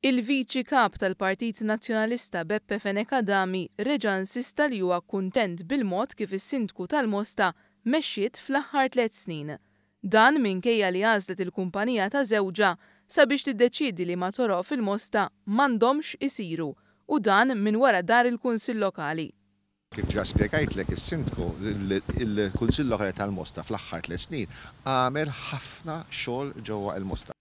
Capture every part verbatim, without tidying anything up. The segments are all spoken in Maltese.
Il-Viċi Kap tal-Partit Nazzjonalista Beppe Fenech Adami reġa' insista li huwa kuntent bil-mod kif is-Sindku tal-Mosta mexxiet fl-aħħar tliet snin. Dan minkejja li għażlet il-kumpanija ta' żewġha sabiex tiddeċiedi liema toroq fil-Mosta m'għandhomx isiru u dan minn wara dar il-Kunsill Lokali. Kif ġa spjegajtlek is-Sindku, il-Kunsill Lokali tal-Mosta fl-aħħar tliet snin għamel ħafna xogħol ġewwa il-Mosta.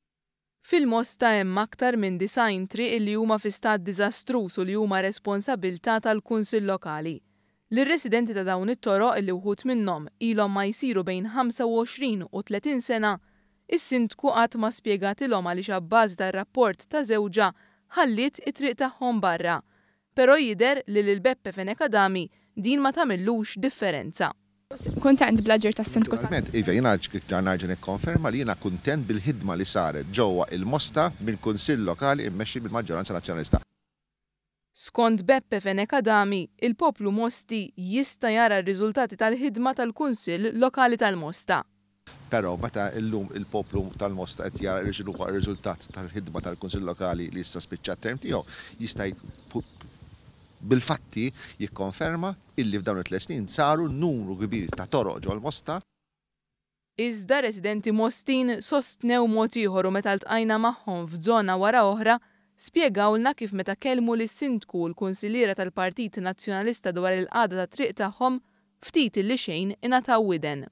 Fil-Mosta hemm aktar minn disgħin triq li huma fi stat diżastruż u li huma responsabilità tal-Kunsill Lokali. Lir-residenti ta' dawn it-toroq li wħud minnhom ilhom ma jsiru bejn ħamsa u għoxrin u tletin sena, is-Sindku qatt ma spjegatilhom għaliex abbażi tar-rapport ta' żewġha ħalliet it-triq tagħhom barra. Però jidher li lil Beppe Fenech Adami din ma tagħmillux differenza. Kuntent bl-aġir tas-Sindku tal- Naturalment, iva, jiena nerġa' nikkonferma li jiena kuntent bil-ħidma li saret ġewwa il-Mosta mill-Kunsill Lokali immexxi bil-maġġoranza Nazzjonalista. Skont Beppe Fenech Adami, il-poplu Mosti jista' jara r-riżultati tal-ħidma tal-Kunsill Lokali tal-Mosta. Però meta llum il-poplu tal-Mosta qed jara r-riżultat tal-ħidma tal-Kunsill Lokali li issa spiċċa t-term tiegħu, jista' bil-fatti jikkonferma illi f'dawn it-tliet snin saru numru kbir ta' toroq ġol-Mosta. Iżda residenti Mostin sostnew mod ieħor u meta ltqajna magħhom f'żona wara oħra, spjegawlna kif meta kellmu lis-Sindku u l-Kunsilliera tal-Partit Nazzjonalista dwar il-qagħda tat-triq tagħhom, ftit illi xejn ingħataw widen.